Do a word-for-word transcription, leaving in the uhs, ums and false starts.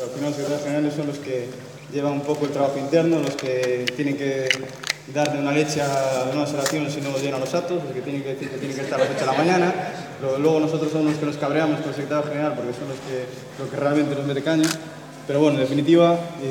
Al final los secretarios generales son los que llevan un poco el trabajo interno, los que tienen que darle una leche a unas oraciones si no llenan los actos, los que tienen que decir que tienen que estar a las ocho de la mañana. Luego nosotros somos los que nos cabreamos con el secretario general porque son los que, los que realmente nos mete caña. Pero bueno, en definitiva...